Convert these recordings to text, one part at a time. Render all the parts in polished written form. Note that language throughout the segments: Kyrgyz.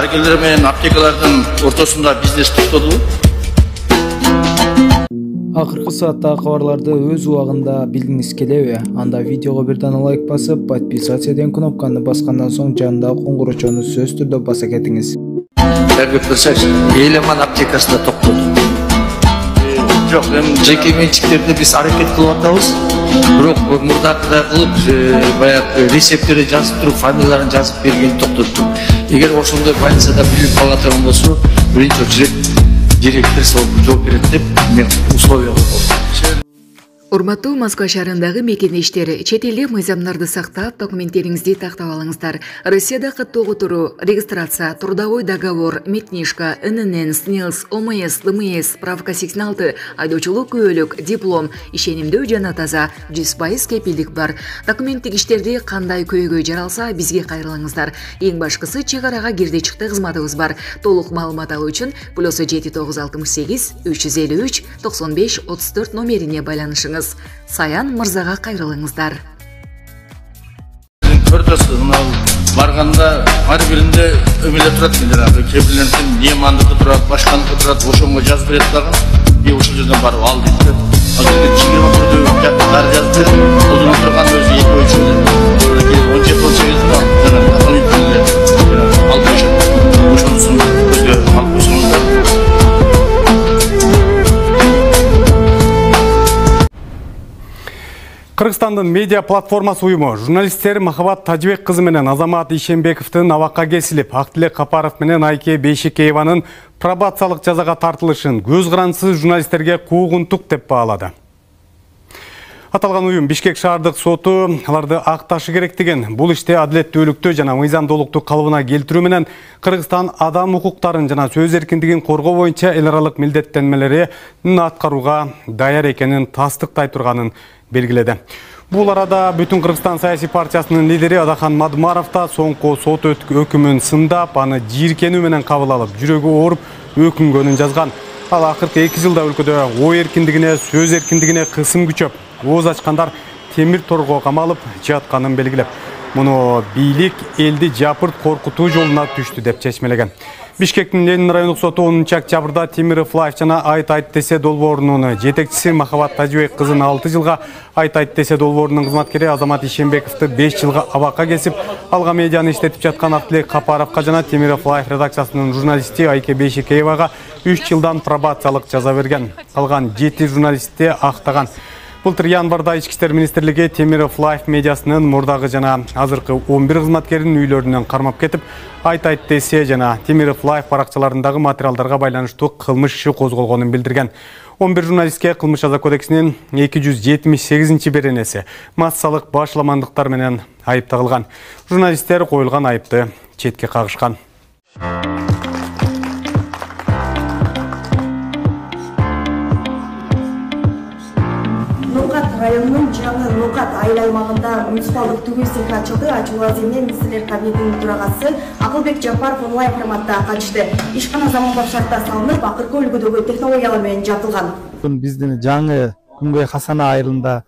дарыгерлер менен аптекалардын ортосунда бизнес токтоду. Акыркы сааттагы кабарларды өз убагында билгиңиз келеби? Анда видеого бир дана лайк басып, подписаться деген кнопканы баскандан соң жанындагы коңгурочону сөзсүз түрдө баса кетиңиз. Эргеп көрсөңүз, Элеман аптекасында токтоду. Жок, эми жеке менчиктерди биз аракет кылып атабыз. Бирок мурдакыдай кылып, баягы рецепттерди жазып туруп, фамилияларын жазып берген токтоттук. Эгер ошондой больницада билип кала турган болсо, биринчи очередь директор жооп берет деп мен условия койдум. Урматтуу Москва шаарындагы мекендештер, чет элде мыйзамдарды сактап, документтериңизди тактап алыңыздар. Россияда каттоого туруу, регистрация, трудовой договор, медкнижка, ННН, СНИЛС, ОМС, ДМС, справка 86, айдоочулук күбөлүк, диплом, ишенимдүү жана таза, 100% кепилдик бар. Документтик иштерди кандай көйгөй жаралса, бизге кайрылыңыздар. Эң башкысы чек арага кирди-чыкты кызматыбыз бар. Толук маалымат алуу үчүн +7 968 353 95 34 номерине байланышыңыз. Саян мырзага кайрылыңыздар. Көрдүсүз, барганда ар биринде өмеле турат жанагы кепилдердин немандыгы турат, башканыкы турат, ошонго жазып берет дагы. Бир ошол жерден барып ал дейт. Азыр чигирма түрдө дар жазып берет. Ошондон турган өзү 2-3 жыл. 17-18 жыл жанагы дополнительный алып койшот. Ошонусун көзгө алып койсоңуздар. Кыргызстандын медиа платформасы уюму журналисттер Махабат Тажибек кызы менен Азамат Ишенбековдун абакка кесилип, Актилек Капаров менен Айке Бейшекееванын пробациялык жазага тартылышын көз карандысыз журналисттерге куугунтук деп баалады. Аталган уюм Бишкек шаардык соту аларды акташы керек деген, бул иште адилеттүүлүктү жана мыйзамдуулукту калыбына келтирүү менен Кыргызстан адам укуктарын жана сөз эркиндигин коргоо боюнча эл аралык милдеттенмелерин аткарууга даяр экенин тастыктай турганын белгиледи. Бул арада Бүтүн Кыргызстан саясий партиясынын лидери Адахан Мадмаров да соңку сот өкүмүн сындап, аны жийиркенүү менен кабыл алып, жүрөгү ооруп өкүнгөнүн жазган. Ал акыркы 2 жылда өлкөдө ой эркиндигине, сөз эркиндигине кысым күчөп, ооз ачкандар темир торго камалып жатканын белгилеп, муну бийлик элди жапырт коркутуу жолуна түштү деп чечмелеген. Бишкектин Ленин райондук соту 10 октябрда Темиров Лайф жана Айт десе долбоорунун жетекчиси Махабат Тажибек кызын 6 жылга, Айт десе долбоорунун кызматкери Азамат Ишенбековду 5 жылга абакка кесип, алга медианы иштетип жаткан Актилек Капаровго жана Темиров Лайф редакциясынын журналисти Айке Бейшекеевага 3 жылдан пробациялык жаза берген. Калган 7 журналистти актаган. Былтыр январда Ички иштер министрлиги Темиров Лайф медиасынын мурдагы жана азыркы 11 кызматкерин үйлөрүнөн кармап кетип, Айт десе жана Темиров Лайф баракчаларындагы материалдарга байланыштуу кылмыш иши козголгонун билдирген. 11 журналистке Кылмыш жаза кодексинин 278-беренеси массалык башламандыктар менен айып тагылган. Журналисттер коюлган айыпты четке кагышкан. Районунун жаңы Нукат айыл аймагында муниципалдык түгүү цехи ачылды. Ачуу аземин министрлер кабинетинин төрагасы Акылбек Жапаров онлайн форматта катышты. Ишкана заманбап шартта салынып, акыркы үлгүдөгү технологиялар менен жабдылган. Биздин жаңы Күнгөй Хасана айылында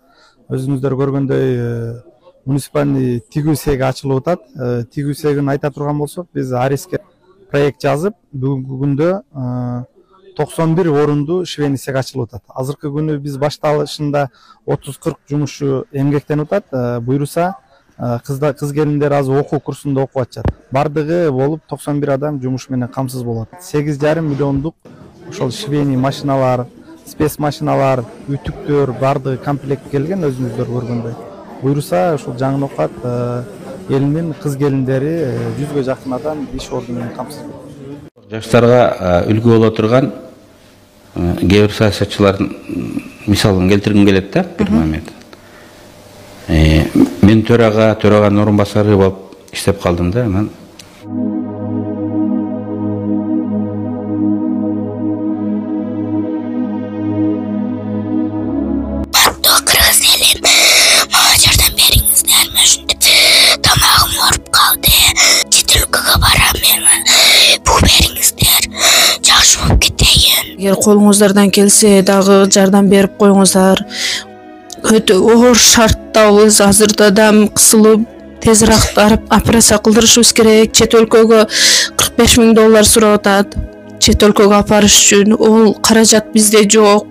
өзүңүздөр көргөндөй муниципальный тигүү цехи ачылып атат. Тигүү цехин айта турган болсок, биз Ариске проект жазып, бүгүнкү күндө 91 орунду швейный цех ачылып атат. Азыркы күнү биз башталышында 30-40 жумушчу эмгектенип атат. Буйруса кыз келиндер азыр окуу курсунда окуп атышат. Бардыгы болуп 91 адам жумуш менен камсыз болот. 8,5 миллиондук ошол швейный машиналар, спец машиналар, үтүктөр бардыгы комплект келген өзүңүздөр көргөндөй. Буйруса ошол жаңы Нукат элинин кыз келиндери 100гө жакын адам иш ордуну менен камсыз болот. Жаштарга үлгү боло турган кээ бир саясатчылардын мисалын келтиргим келет да бир момент. Мен төраганын орун басары болуп иштеп калдым да. Анан кыргыз элим мага жардам бериңиздер, ушинтип тамагым ооруп калды. Чет өлкөгө барам мен. Бул бериңиздер, жакшы болуп кетейин. Эгер колуңуздардан келсе дагы жардам берип коюңуздар. Өтө оор шарттабыз. Азырда дам кысылып, тезирээк барып операция кылдырышыбыз керек. Чет өлкөгө 40 $45.000 сурап атат чет өлкөгө апарыш үчүн. Ол каражат бизде жок.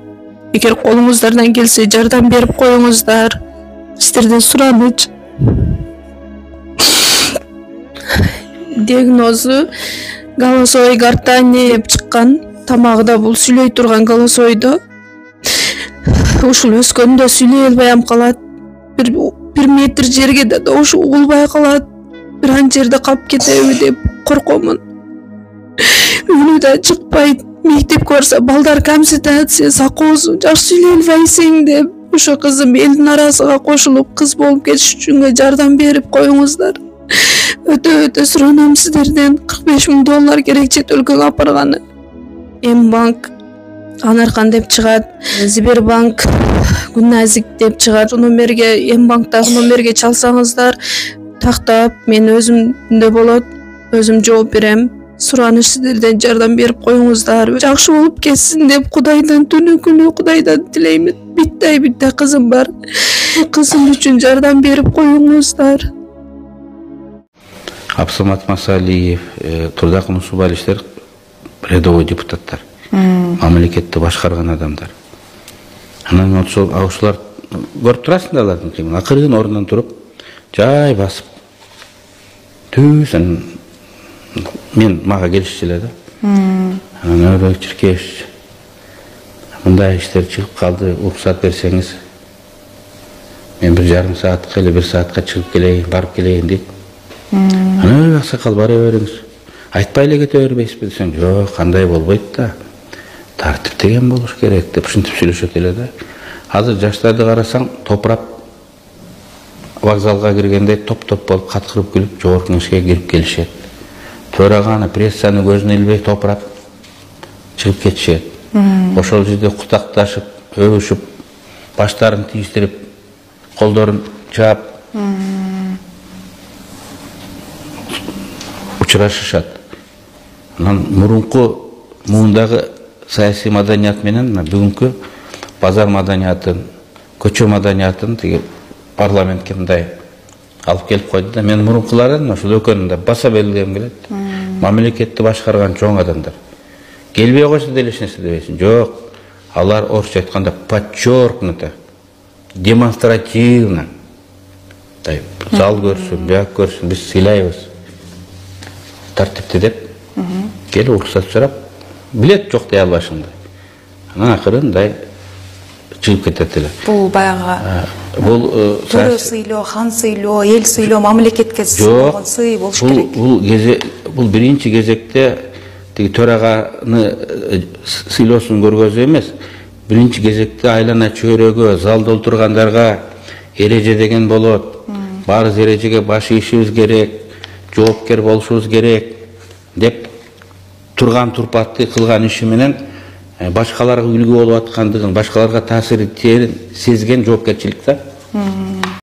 Эгер колуңуздардан келсе жардам берип коюңуздар. Сиздерден сураныч. Диагнозу голосовой гортани деп чыккан. Тамагы да бул сүйлөй турган голосойдо. Ушул өскөндө сүйлөй албай калат. Бир метр жерге да ошо угулбай калат. Бир ан жерде калып кетеби деп коркомун. Үнү да чыкпайт. Мектепке барса балдар камсытат, сен сакоосуң, жакшы сүйлөй албайсың деп. Ошо кызым элдин арасына кошулуп кыз болуп кетиш үчүн жардам берип коюңуздар. Өтө суранам сиздерден. $45.000 керек чет өлкөгө апарганы. М-банк Анаркан деп чыгат, Сбербанк Гүнназик деп чыгат. Номерге, М-банктагы номерге чалсаңыздар, тактап мен өзүмдө болот, өзүм жооп берем. Сураныш сиздерден жардам берип коюңуздар. Жакшы болуп кетсин деп Кудайдан түнү күнү Кудайдан тилеймин. Битте кызым бар. Кызым үчүн жардам берип коюңуздар. Абсамат Масалиев, Турдакын Усубалиштер рядовой депутаттар. Мамлекетти башкарган адамдар. Анан ошолар көрүп турасың да алардын кыймылын. Акырын ордунан туруп, жай басып. Түзөн мен мага келишчү эле да. Анан Өрөк Чиркеевич, мындай иштер чыгып калды, уруксат берсеңиз. Мен 1,5 саатка эле 1 саатка чыгып келейин, барып келейин дейт. Анан аксакал бара бериңиз. Айтпай эле кете бербейсизби десем, жок, кандай болбойт да. Тартип деген болуш керек деп ушинтип сүйлөшөт эле да. Азыр жаштарды карасаң, топурап вокзалга киргенде топ-топ болуп каткырып күлүп жогорку кеңешке кирип келишет. Төраганы, прессаны көзүнө илбей топурап чыгып кетишет. Ошол жерде кутакташып, өбүшүп, баштарын тийиштирип, колдорун чаап учурашышат. Анан мурунку муундагы саясий маданият менен бүгүнкү базар маданиятын, көчө маданиятын тиги парламентке мындай алып келип койду да. Мен мурункулардан ошол экөөнүн да баса белгилегим келет. Мамлекетти башкарган чоң адамдар. Келбей койсо деле эч нерсе дебейсиң. Жок, алар орусча айтканда подчеркнуто, демонстративно. Зал көрсүн, бияк көрсүн, биз сыйлайбыз. Тартипти деп, келип уруксат сурап, билет жок дей албашыңды. Анан акырын чыгып кетет эле. Бул баягы төрө сыйлоо, хан сыйлоо, эл сыйлоо, мамлекетке болгон сый болуш керек. Бул биринчи кезекте тиги төраганы сыйлоосун көргөзүү эмес. Биринчи кезекте айлана чөйрөгө, залда отургандарга эреже деген болот. Баарыбыз эрежеге баш ийишибиз керек, жоопкер болушубуз керек деп турган турпатты кылган иши менен башкаларга үлгү болуп аткандыгын, башкаларга таасири сезген жоопкерчилик да.